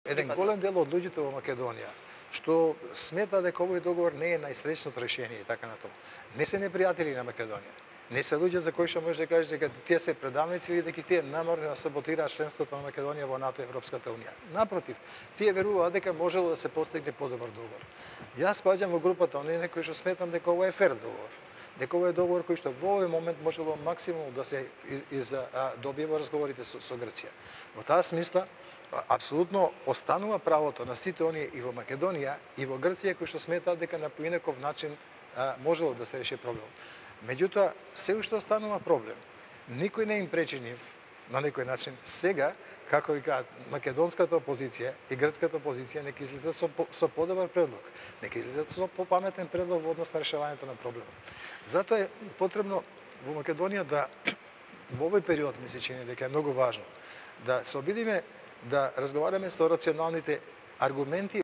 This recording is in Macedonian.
Еден голем дел од луѓето во Македонија што смета дека овој договор не е најсреќното решение и така натаму. Не се непријатели на Македонија. Не се луѓе за кои што може да кажеш дека тие се предавници или дека тие намерно да саботираат членството на Македонија во НАТО и Европската унија. Напротив, тие веруваат дека можело да се постигне подобар договор. Јас спаѓам во групата оние кои што сметам дека ова е фер договор. Дека ова е договор кој што во овој момент можело максимум да се добие во разговорите со Грција. Во таа смисла, апсолутно останува правото на сите оние и во Македонија и во Грција кои што сметаат дека на поинаков начин можело да се реши проблем. Меѓутоа, се уште останува проблем. Никој не им пречи нив, на некој начин, сега, како ви кажат, македонската опозиција и грцката опозиција нека излезат со подобар предлог, нека излезат со попаметен предлог во однос на решавањето на проблемот. Затоа е потребно во Македонија да во овој период ми се чини дека е многу важно да се обидиме да разговараме со рационалните аргументи